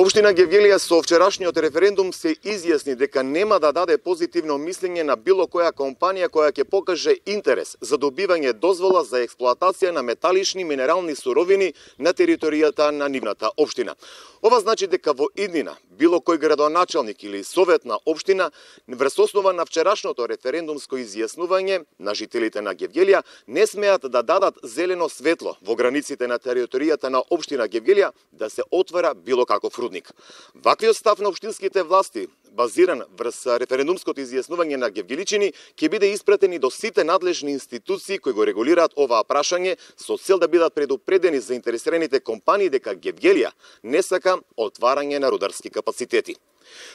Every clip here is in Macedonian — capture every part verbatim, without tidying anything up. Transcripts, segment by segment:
Општина Гевгелија со вчерашниот референдум се изјасни дека нема да даде позитивно мислење на било која компанија која ќе покаже интерес за добивање дозвола за експлоатација на металични минерални суровини на територијата на нивната општина. Ова значи дека во иднина било кој градоначалник или совет на општина врз основа на вчерашното референдумско изјаснување на жителите на Гевгелија не смеат да дадат зелено светло во границите на територијата на општина Гевгелија да се отвара било каков рудник. Ваквиот став на општинските власти, базиран врз референдумското изјаснување на гевгеличани, ќе биде испратени до сите надлежни институции кои го регулираат оваа прашање со цел да бидат предупредени заинтересираните компании дека Гевгелија не сака отварање на рударски капацитети.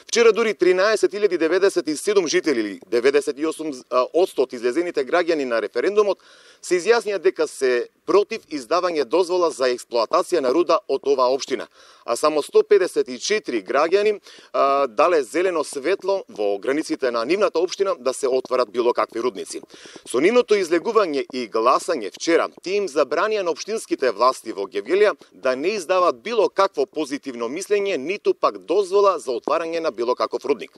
Вчера дури тринаесет илјади деветдесет и седум жители или деветдесет и осум одсто од излезените граѓани на референдумот се изјаснија дека се против издавање дозвола за експлоатација на руда од оваа општина, а само сто педесет и четири граѓани а, дале зелено светло во границите на нивната општина да се отварат било какви рудници. Со нивното излегување и гласање вчера, тие им забранија на општинските власти во Гевгелија да не издават било какво позитивно мислење, ниту пак дозвола за отварање на било каков рудник.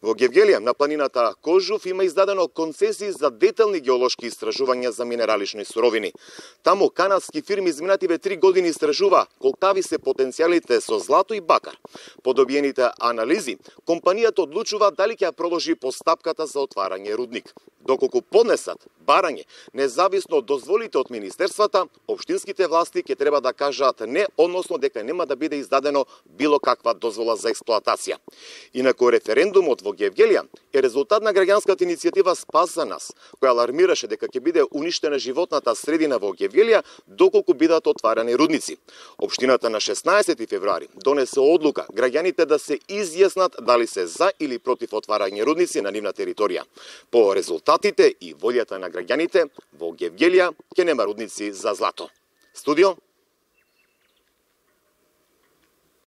Во Гевгелија, на планината Кожув, има издадено концесии за детални геолошки истражувања за минералични суровини. Таму канадски фирми изминативе три години истражува колкави се потенцијалите со злато и бакар. По добиените анализи, компанијата одлучува дали ќе продолжи постапката за отварање рудник. Доколку поднесат барање, независно од дозволите од министерствата, општинските власти ќе треба да кажат не, односно дека нема да биде издадено било каква дозвола за експлоатација. Инаку референдумот во Гевгелија е резултат на граѓанската иницијатива Спас за нас, која алармираше дека ќе биде уништена животната средина во Гевгелија доколку бидат отварани рудници. Општината на шеснаесети февруари донесе одлука граѓаните да се изјаснат дали се за или против отварање рудници на нивна територија. По резултатите и волјата на граѓаните, во Гевгелија ќе нема рудници за злато. Студио